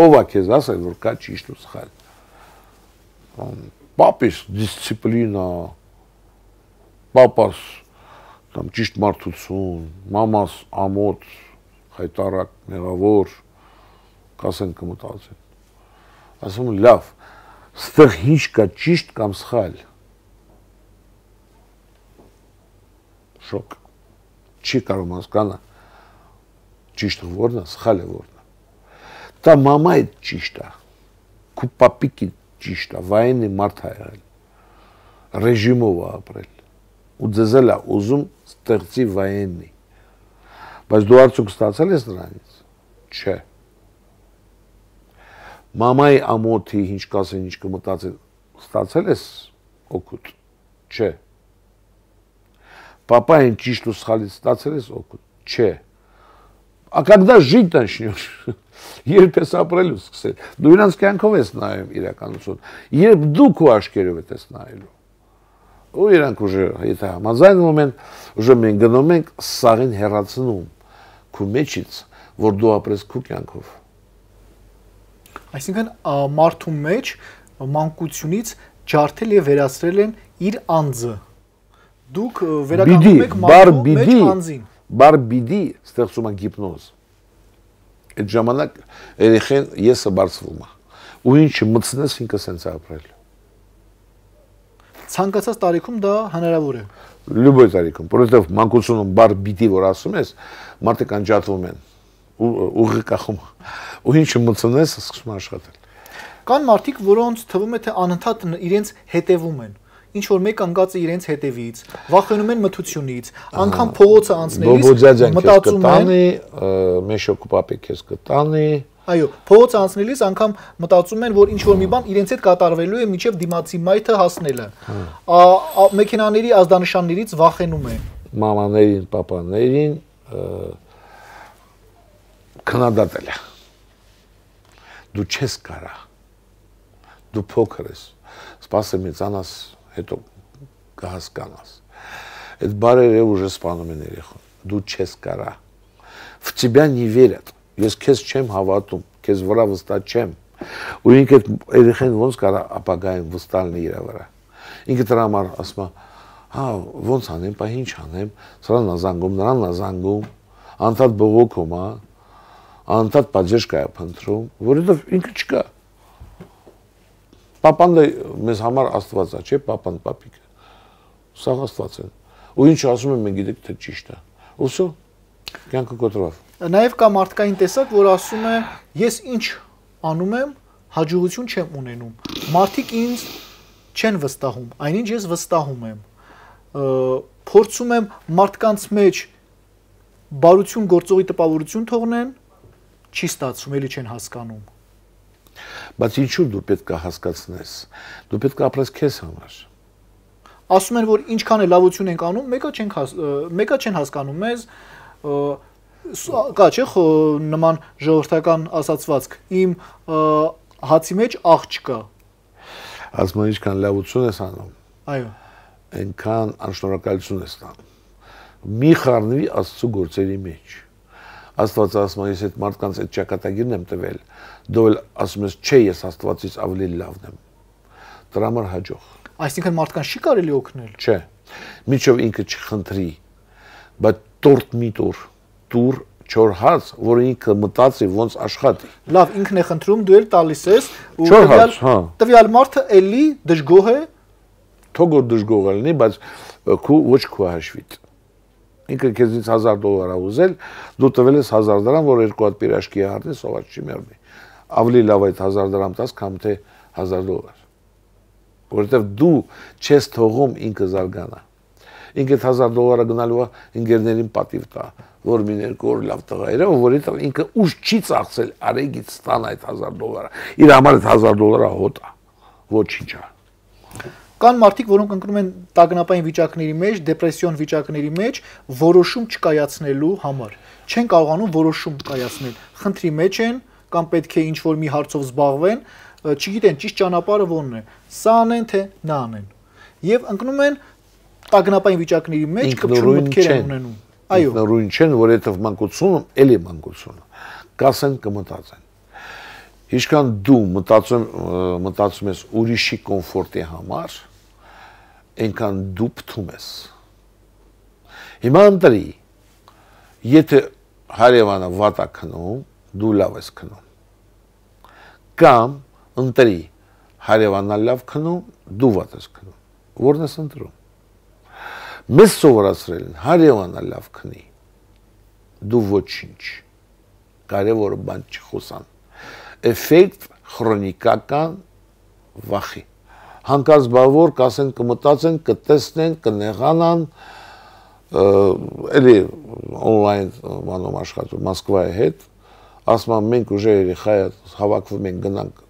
ով է քեզ ասել, որ կա ճիշտ ու սխալ։ Պապիս դիսցիպլինա, պապաս там ճիշտ մարդություն, մամաս ամոթ, հայտարարակ, մեղավոր, կասեն կմտածեն։ Ասում լավ, ստեղ ինչ կա ճիշտ կամ սխալ։ Շոկ։ Չի կարող հասկանալ ճիշտը որն է, սխալը որն է։ Դա մամա է ճիշտ է։ Քու պապիկի ճիշտ է, վայենի մարդ է եղել, ռեժիմով է ապրել, ու ձեզ էլ է ուզում ստեղծի վայենի, բայց դու արդյոք ստացել ես նրանից, չէ, մամայի ամոթի ինչ կասեն, ինչ կմտածել, ստացել ես օգուտ, չէ, պապային ճիշտ ու սխալից ստացել ես օգուտ, չէ, а когда жить начнешь, երբ ես ապրելու սկսել, դու իրանց կյանքով ես նայում իրականություն, երբ դու քո աչքերով ես նայելու, ու իրանք ուժը, եթե համաձայնում են, ուժը մենք գնում ենք սաղին հեռացնում քո մեջից, որ դու ապրես քո կյանքով։ Այսինքն մարդու մեջ մանկությունից ջարդել եւ վերացրել են իր անձը։ Դուք վերականգնում եք մարդու մեջ անձին։ Բար բիդի ստեղծում է գիպնոզ։ Այդ ժամանակ երեխեն եսը բարձվում է։ Ու ինչը մտցնես ինքը սենց է ապրել։ Ցանկացած տարիքում դա հնարավոր է։ Любой տարիքում, որովհետև մանկությունում բար բիդի որ ասում ես, մարդիկ անջատվում են, ուղի կախում, ու ինչը մտցնես սկսում է աշխատել։ Կան մարդիկ, որոնց թվում է թե անընդհատ իրենց հետևում են։ Ինչ որ մեկ անգածը իրենց հետևից, վախենում են մթությունից, անգամ փողոցը անցնելիս մտածում են, մեշոկ պապի քեզ կտանի։ Այո, փողոցը անցնելիս անգամ մտածում են, որ ինչ որ մի բան իրենց հետ կատարվելու է մինչև դիմացի մայթը հասնելը։ Մեքենաների ազդանշաններից վախենում են։ Մամաներին, պապաներին քննադատել է։ Դու չես կարա։ Դու փոքր ես։ Սպասեմ մեծանաս, հետո կհասկանաս։ Այդ բարերը уже սպանում են երեխան։ Դու չես կարա։ В тебя не верят։ Ես քեզ չեմ հավատում, քեզ վրա վստահ չեմ։ Ու ինքը երեխան ոնց կարա ապագային վստահ լինի իր վրա։ Ինքը դրա համար ասում է, հա, ոնց անեմ, բա ինչ անեմ, սրանն ազանգում, նրան ազանգում, անդադ բողոքում, հա, անդադ պատժեշկա է փնտրում, որովհետև ինքը չկա։ Պապան դա մեզ համար Աստված է, չէ՞, պապան, պապիկը։ Սա Աստված է։ Ու ինչ ասում են, մենք գիտենք թե ճիշտ է։ Ուսո կյանքը կոտրավ։ Նաև կա մարդկային տեսակ, որ ասում է, ես ինչ անում եմ, հաջողություն չեմ ունենում։ Մարդիկ ինձ չեն վստահում, այնինչ ես վստահում եմ։ Փորձում եմ մարդկանց մեջ բարություն գործողի տպավորություն թողնեն, չի ստացվում, էլի չեն հասկանում։ Բայց ինչու դու պետք է հասկացնես։ Դու պետք է ապրես քեզ համար։ Ասում են, որ ինչքան է լավություն ենք անում, մեկը չեն հասկանում մեզ, կա չէ, նման ժողովրդական ասացվածք, իմ հացի մեջ աղ չկա։ Ասում են, ինչքան լավություն ես անում։ Այո։ Այնքան անշնորհակալություն ես տանում։ Մի խառնվի Աստծո գործերի մեջ։ Աստված ասում է, ես այդ մարդկանց այդ ճակատագիրն եմ տվել, դու էլ ասում ես, չէ, ես Աստվածից ավելի լավն եմ։ Դրա համար հաջող։ Այսինքն մարդկանց չի կարելի օգնել։ Չէ։ Միջով ինքը չխնդրի, բայց տորտ մի տուր չոր հաց, որ ինքը մտածի ոնց աշխատի։ Լավ, ինքն է խնդրում, դու էլ տալիս ես, ու տվյալ մարդը էլի դժգոհ է։ Թողո դժգոհ լինի, բայց ոչ քո հաշվից։ Ինքը քեզից $1000 ուզել, դու տվել ես $1000, որ երկու հատ պիրաշկի հարդի սոված չի մեռնի։ Ավելի լավ այդ $1000 տաս, քան թե $1000։ Որովհետև դու չես թողում ինքը զարգանա։ Ինքը $1000 գնալու է ընկերներին պատիվ տա, որ մի երկու օր լավ տղա էր, որովհետև ինքը ուժ չի ծախսել արեգից ստան այդ $1000։ Իր համար այդ $1000 հոտ է, ոչինչ է։ Կան մարդիկ, որոնք ընկնում են տագնապային վիճակների մեջ, դեպրեսիոն վիճակների մեջ, որոշում չկայացնելու համար։ Չեն կարողանում որոշում կայացնել։ Խնդրի մեջ են, կամ պետք է ինչ-որ մի հարցով զբաղվեն, չգիտեն ճիշտ ճանապարհը որն է։ Սա անեն թե նա անեն։ Եվ ընկնում են տագնապային վիճակների մեջ, կպչուն մտքեր են ունենում։ Այո։ Նորույն չեն, որովհետև մանկությունում, էլի մանկությունը, կասեն կմտածեն։ Ինչքան դու մտածում ես ուրիշի կոմֆորտի համար, այնքան դու պտում ես։ Հիմա ընտրի, եթե հարևանը վատ է քնում, դու լավ ես քնում։ Կամ ընտրի, հարևանն լավ քնում, դու վատ ես քնում։ Որն ես ընտրում։ Մեզ սովորացրել են, հարևանը լավ քնի, դու ոչինչ, կարևոր բան չխոսան։ Էֆեկտ քրոնիկական վախի։ Հանկարծ բավոր կասեն կմտածեն, կտեսնեն, կնեղանան, էլի օնլայն մանոմ աշխատում Մոսկվայի հետ, ասում եմ մենք ուժը երեխա հավաքվում ենք գնանք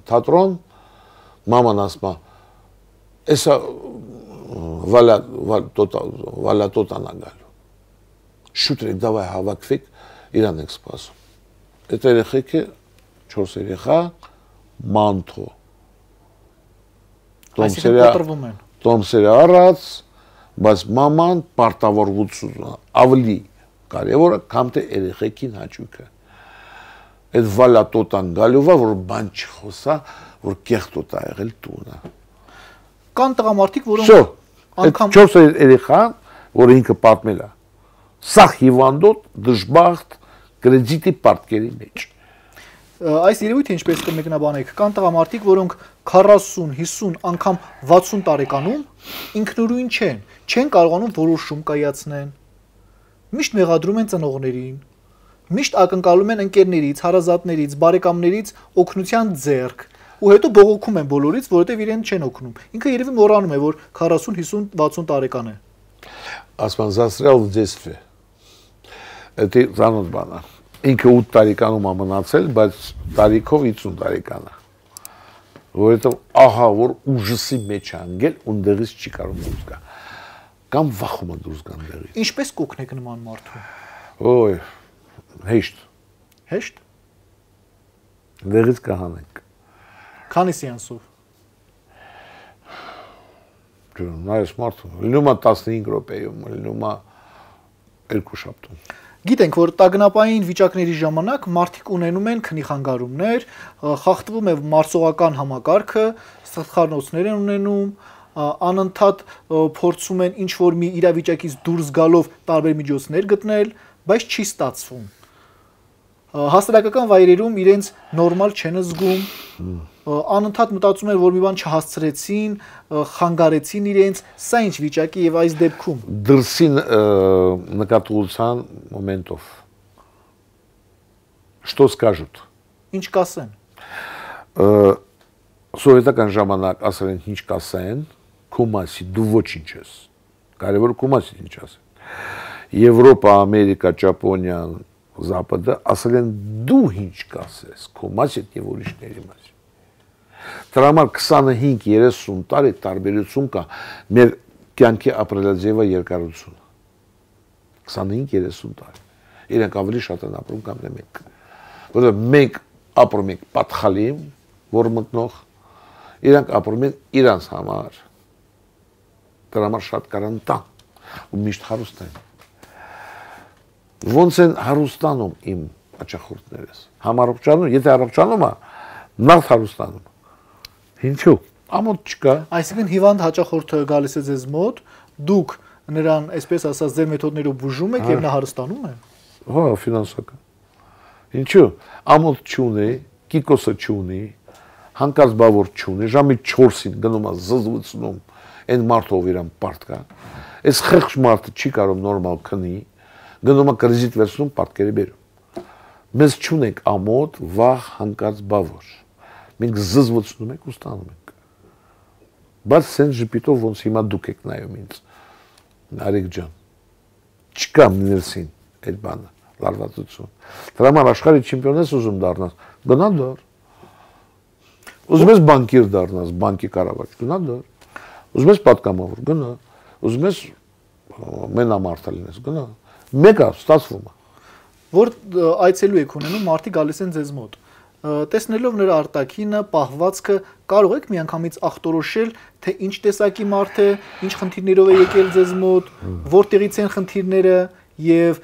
թատրոն, մաման ասում է էսա վալա տոտանա գալու։ Շուտ եք դավայ հավաքվեք, իրան եք սպասում։ Այդ երեխեքը 4 երեխա մանթո։ Տոմսերը առած, բայց մաման պարտավորվածությունը ավելի կարևորը կամ թե երեխեքին հաճույքը։ Այդ վալատոտան գալուվա, որ բան չխոսա, որ կեղտոտ ա եղել տունը։ Կան տղամարդիկ, որոնք անգամ 4 երեխա, որ ինքը պատմել է, սաղ հիվանդոտ, դժբախտ, կրեդիտի պարտքերի մեջ։ Այս երևույթը ինչպես կմեկնաբանեք, կան տղամարդիկ, որոնք 40, 50, անգամ 60 տարեկանում ինքնուրույն չեն կարողանում որոշում կայացնեն, միշտ մեղադրում են ծնողներին, միշտ ակնկալում են ընկերներից, հարազատներից, բարեկամներից օգնության ձեռք, ու հետո բողոքում են բոլորից, որովհետև իրեն չեն օգնում։ Ինքը երևի մոռանում է, որ 40, 50, 60 տարեկան է։ Ասում застрял в детстве։ Դա ծանոթ բան է։ Ինքը 8 տարեկանում է մնացել, բայց տարիքով 50 տարեկան է։ Որովհետև ահա որ ուժսի մեջ է անգել, ունդեղից չի կարող դուրս գա։ Կամ վախում է դուրս գան դեղից։ Ինչպես կօգնեք նման մարդու։ Ոյ, հեշտ։ Հեշտ։ Դեղից կհանենք։ Քանի սեանսով։ Նայես մարդու, լինում է 15 րոպեում, լինում է 2 շաբթում։ Գիտենք, որ տագնապային վիճակների ժամանակ մարդիկ ունենում են քնի խանգարումներ, խախտվում է մարսողական համակարգը, սխալնոցներ են ունենում, անընդհատ փորձում են ինչ-որ մի իրավիճակից դուրս գալով տարբեր միջոցներ գտնել, բայց չի ստացվում։ Հասարակական վայրերում իրենց նորմալ չեն զգում, անընդհատ մտածում են, որ մի բան չհասցրեցին, խանգարեցին իրենց, սա ինչ վիճակի եւ այս դեպքում դրսի նկատողության մոմենտով Что скажут? Ինչ կասեն։ Սովետական ժամանակ ասել են ինչ կասեն, քո մասի դու ոչինչ ես։ Կարևոր քո մասի ինչ ասեն։ Եվրոպա, Ամերիկա, Ճապոնիա, Զապադը ասել են դու ինչ կասես, քո մասի եւ ուրիշների մասի։ Դրա համար 25-30 տարի տարբերություն կա մեր կյանքի ապրելաձևը երկարությունը։ 25-30 տարի։ Իրենք ավելի շատ են ապրում կամ թե մենք։ Որովհետեւ մենք ապրում ենք պատխալիմ, որ մտնող, իրենք ապրում են իրանց համար։ Դրա համար շատ կարան տան ու միշտ հարուստ են։ Ոնց են հարուստանում իմ աչախորդներս։ Համառողջանում, եթե առողջանում է, նախ հարուստանում։ Ինչու՞։ Ամոթ չկա։ Այսինքն հիվանդ հաճախորդը գալիս է ձեզ մոտ, դուք նրան, այսպես ասած, ձեր մեթոդներով բուժում եք եւ նա հարստանում է։ Հա, ֆինանսական։ Ինչու՞։ Ամոթ չունի, կիկոսը չունի, հանկարծ բավոր չունի, ժամի 4-ին գնում է զզվցնում, այն մարդով իրան պարտ կա։ Այս խեղճ մարդը չի կարող նորմալ քնի, գնում է կրեդիտ վերցնում, պարտքերի բերում։ Մեզ չունենք ամոթ, վախ, հանկարծ բավոր։ Մենք զզվցնում ենք ու ստանում ենք։ Բայց սենց ժպիտով ոնց հիմա դուք եք նայում ինձ։ Արեգ ջան։ Չկա ներսին այդ բանը, լարվածություն։ Դրա համար աշխարհի չեմպիոն ես ուզում դառնաս, գնա դար։ Ուզում ես բանկիր դառնաս, բանկի կառավարիչ, գնա դար։ Ուզում ես պատգամավոր, գնա։ Ուզում ես մենամարտը լինես, գնա։ Մեկը ստացվում է։ Որ այցելու եք ունենում, մարդիկ գալիս են ձեզ մոտ։ Տեսնելով նրա արտաքինը, պահվածքը, կարող եք միանգամից ախտորոշել, թե ինչ տեսակի մարդ է, ինչ խնդիրներով է եկել ձեզ մոտ, որտեղից են խնդիրները եւ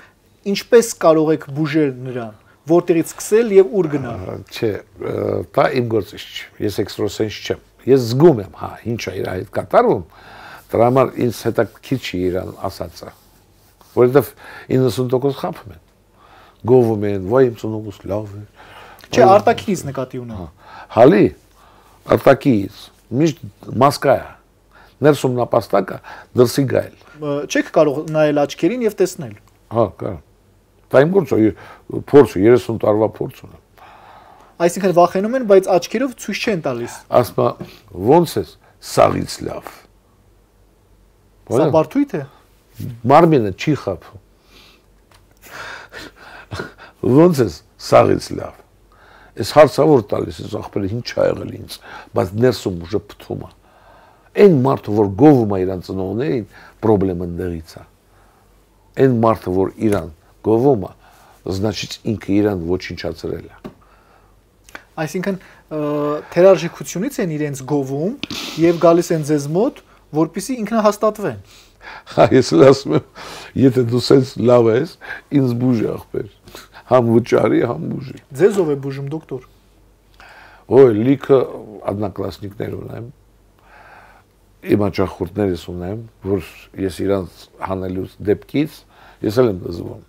ինչպես կարող եք բուժել նրան, որտեղից սկսել եւ ուր գնալ։ Չէ, դա իմ գործը չէ։ Ես էքստրասենս չեմ։ Ես զգում եմ, հա, ինչ է իր հետ կատարվում։ Դրա համար ինձ հետաքրքիր չի իրան ասածը։ Որովհետեւ 90% խափում են։ Գովում են, վայ իմ ծնողս լավ է։ Չէ, արտաքինից նկատի ունեմ։ Հալի, արտաքինից, միշտ մասկա է։ Ներսում նապաստակը դրսի գայել։ Չեք կարող նայել աչքերին եւ տեսնել։ Հա, կարող։ Դա իմ գործը, փորձը 30 տարվա փորձ ունեմ։ Այսինքն վախենում են, բայց աչքերով ցույց չեն տալիս։ Ասма ոնց է սաղից լավ։ Սա բարդույթ է։ Մարմինը չի խափում։ Ոնց է սաղից լավ։ Այս հարցավոր տալիս ես ախպերը ինչ ա եղել ինձ, բայց ներսում ուժը փթում է։ Այն մարդը, որ գովում է իրան ծնողներին, պրոբլեմը ընդեղից է։ Այն մարդը, որ իրան գովում է, значит ինքը իրան ոչնչացրել է։ Այսինքն թերարժեքությունից են իրենց գովում եւ գալիս են ձեզ մոտ, որպեսզի ինքնահաստատվեն։ Հա, ես ասում եմ, եթե դու սենց լավ ես, ինձ բուժի ախպեր։ Համ վճարի, համ բուժի։ Ձեզ ով է բուժում, դոկտոր։ Ոյ, լիքը одноклассникներ ունեմ։ Իմ աջախորդներս ունեմ, որ ես իրանց հանելուց դեպքից ես էլ եմ դզվում։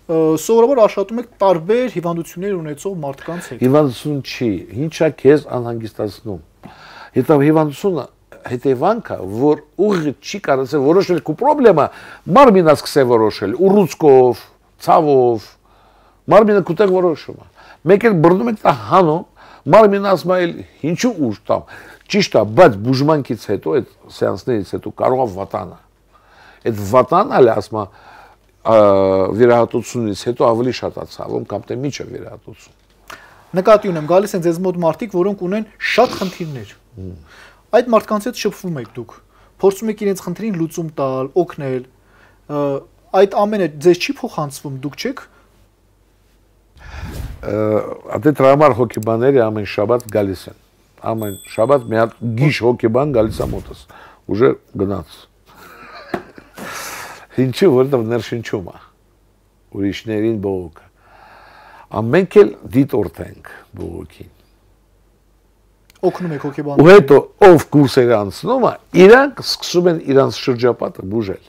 Սովորաբար աշխատում եք տարբեր հիվանդություններ ունեցող մարդկանց հետ։ Հիվանդություն չի, ինչա քեզ անհանգստացնում։ Հետո հիվանդությունը հետևանքը, որ ուղղը չի կարծել որոշել քո խնդրեմը, մարմինը սկսե որոշել, ուռուցքով, ցավով, մարմինը կուտեղ որոշում է։ Մեկ էլ բռնում եք տա հանում, մարմինը ասում է ինչու ուժ տամ։ Ճիշտ է, բայց բուժմանքից հետո, այդ սեանսներից հետո կարող է վատանա։ Այդ վատանը ասում է վերահատությունից հետո ավելի շատ է ցավում կամ թե միջը վերահատություն։ Նկատի ունեմ, գալիս են ձեզ մոտ մարդիկ, որոնք ունեն շատ խնդիրներ։ Այդ մարդկանց հետ շփվում եք դուք, փորձում եք իրենց խնդրին լուծում տալ, օգնել։ Այդ ամենը ձեզ չի փոխանցվում, դուք չեք։ Ատե տրամար հոգեբանները ամեն շաբաթ գալիս են։ Ամեն շաբաթ մի հատ գիշ հոգեբան գալիս է մոտս։ Ուժը գնաց։ Ինչու, որտեղ ներշնչում է ուրիշներին բողոքը։ Ամենք էլ դիտորդ ենք բողոքին։ Օգնում եք հոգեբաններին։ Ու հետո ով կուրսերը անցնում է, իրանք սկսում են իրանց շրջապատը բուժել։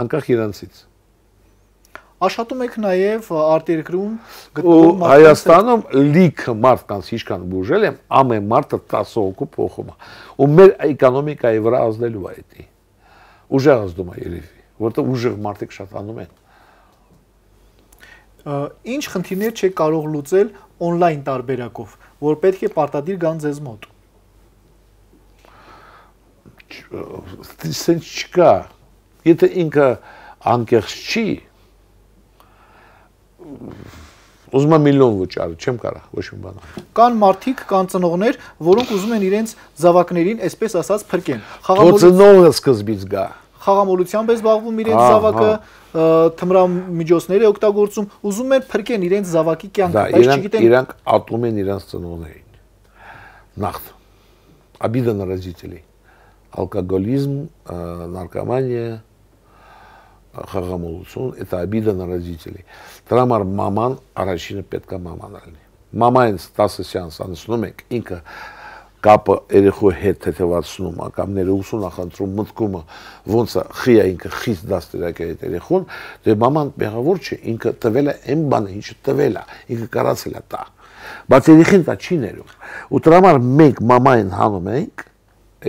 Անկախ իրանցից։ Աշխատում եք նաև արտերկրում գտնվում Հայաստանում լիքը մարդկանց ինչքան բուժել եմ, ամեն մարդը 10 հոգու փոխում է։ Ու մեր էկոնոմիկայի վրա ազդելու է դա։ Ուժեղ ազդում է երևի, որտեղ ուժեղ մարդիկ շատ անում են։ Ինչ խնդիրներ չեք կարող լուծել on-line տարբերակով, որ պետք է պարտադիր գան ձեզ մոտ։ Սենց չկա։ Եթե ինքը անկեղծ չի, ուզում եմ միլիոն վճարել, չեմ կարող ոչ մի բան։ Կան մարդիկ, կան ծնողներ, որոնք ուզում են իրենց զավակներին, այսպես ասած, փրկեն։ Ծնողը սկզբից գա։ Խաղամոլությամբ է զբաղվում իրենց զավակը, թմրամիջոցներ է օգտագործում, ուզում են փրկեն իրենց զավակի կյանքը, բայց չգիտեն։ Իրանք ատում են իրենց ծնողներին։ Նախ обида на родителей. Алкоголизм, наркомания, խաղամոլություն, это обида на родителей. Դրա համար մաման առաջինը պետք է մաման լինի։ Մամային 10 սեանս անցնում եք, ինքը կապը երեխու հետ թեթևացնում, կամ ներողություն նախընտրում, մտքումը ոնց է խիա ինքը խիստ դաստիարակ է այդ երեխուն, դե մաման մեղավոր չէ, ինքը տվել է այն բանը, ինչը տվել է, ինքը կարացել է տա։ Բայց երեխին դա չի ներում։ Ու դրա համար մենք մամային հանում ենք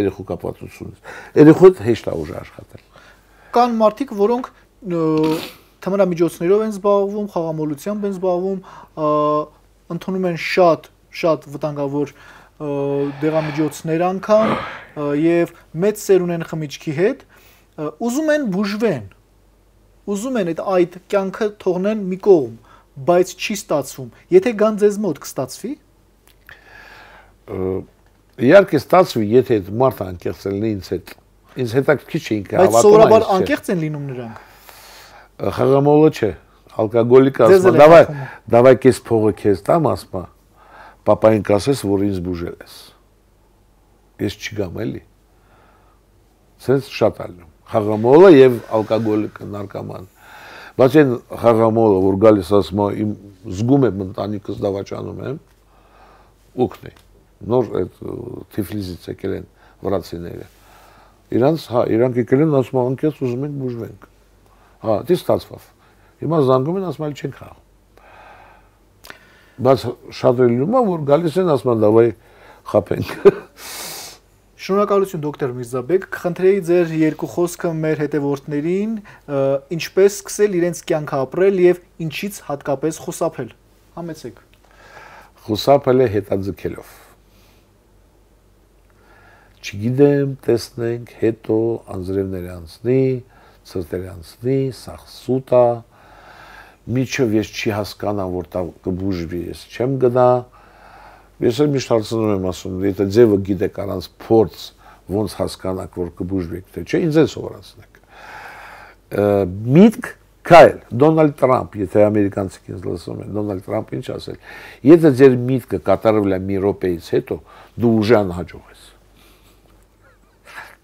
երեխու կապվածությունից։ Երեխու հետ հեշտ է ուժ աշխատել։ Կան մարդիկ, որոնք թմրամիջոցներով են զբաղվում, խաղամոլությամբ են զբաղվում, ընդունում են շատ վտանգավոր դեղամիջոցներ անգամ եւ մեծ սեր ունեն խմիչքի հետ, ուզում են բուժվեն, ուզում են այդ կյանքը թողնեն մի կողմ, բայց չի ստացվում։ Եթե գան ձեզ մոտ կստացվի։ Իհարկե ստացվի, եթե այդ մարդը անկեղծ լինի ինձ հետ։ Ինձ հետաքրքիր չէ ինքը հավատում է։ Բայց սովորաբար անկեղծ են լինում նրանք։ Խաղամոլը չէ, ալկոգոլիկը ասում է, давай քեզ փողը քեզ տամ, ասում է, պապային կասես, որ ինձ բուժել ես։ Ես չգամ էլի։ Սենց շատ ալնում։ Խաղամոլը եւ ալկոգոլիկը, նարկոման։ Բայց այն խաղամոլը, որ գալիս ասում է, իմ զգում եմ ընտանիքս դավաճանում եմ, ուքնի։ Նոր այդ Թիֆլիսից եկել են վրացիները։ Իրանք եկել են ասում են անկեղծ ուզում ենք բուժվենք։ Հա, դե ստացվավ։ Հիմա զանգում են ասում են չենք խաղում։ Բայց շատ լինում է, որ գալիս են ասում են давай խափենք։ Շնորհակալություն դոկտոր Միրզաբեկ, կխնդրեի ձեր երկու խոսքը մեր հետևորդներին, ինչպես սկսել իրենց կյանքը ապրել եւ ինչից հատկապես խուսափել։ Համեցեք։ խուսափել է հետաձգելով։ Չգիտեմ, տեսնենք, հետո անձրևները անցնի, ցրտերը անցնի, սաղ սուտ է, միջով ես չի հասկանամ, որ տա կբուժվի, ես չեմ գնա, ես էլ միշտ հարցնում եմ ասում, եթե ձևը գիտեք առանց փորձ, ոնց հասկանաք, որ կբուժվեք, թե չէ, ինձ էլ սովորացնեք։ Միտք քայլ, Դոնալդ Տրամփ, եթե ամերիկանցիք ինձ լսում են, Դոնալդ Տրամփը ինչ ասել, եթե ձեր միտքը կատարվել է մի րոպեից հետո, դու ուժը անհաջող ես։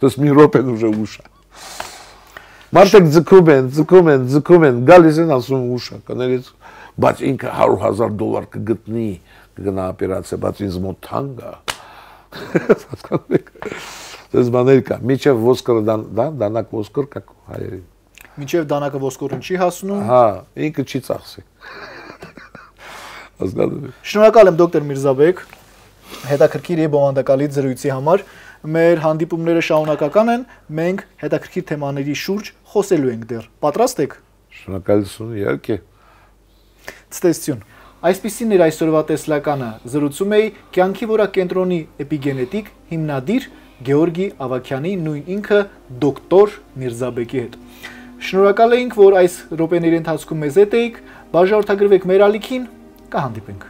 Դες մի րոպեն ուժը ուշ է։ Մարդիկ ձգում են, գալիս են ասում ուշ է, կներից, բայց ինքը $100,000 կգտնի, կգնա օպերացիա, բայց ինձ մոտ թանկ է։ Դες բաներ կա, միջև ոսկորը դանակ ոսկոր կա հայերին։ Մինչև դանակը ոսկորին չի հասնում։ Հա, ինքը չի ծախսի։ Հասկանում եք։ Շնորհակալ եմ դոկտոր Միրզաբեկ, հետաքրքիր եւ բովանդակալից զրույցի համար։ Մեր հանդիպումները շարունակական են, մենք հետաքրքիր թեմաների շուրջ խոսելու ենք դեռ։ Պատրաստ եք։ Շնորհակալություն, իհարկե։ Ցտեսություն։ Այսպիսին էր այսօրվա տեսլականը։ Զրուցում էի կյանքի որակենտրոնի էպիգենետիկ հիմնադիր Գեորգի Ավագյանի, նույն ինքը դոկտոր Միրզաբեկի հետ։ Շնորհակալ ենք, որ այս րոպեների ընթացքում մեզ հետ էիք, բաժանորդագրվեք մեր ալիքին, կհանդիպենք։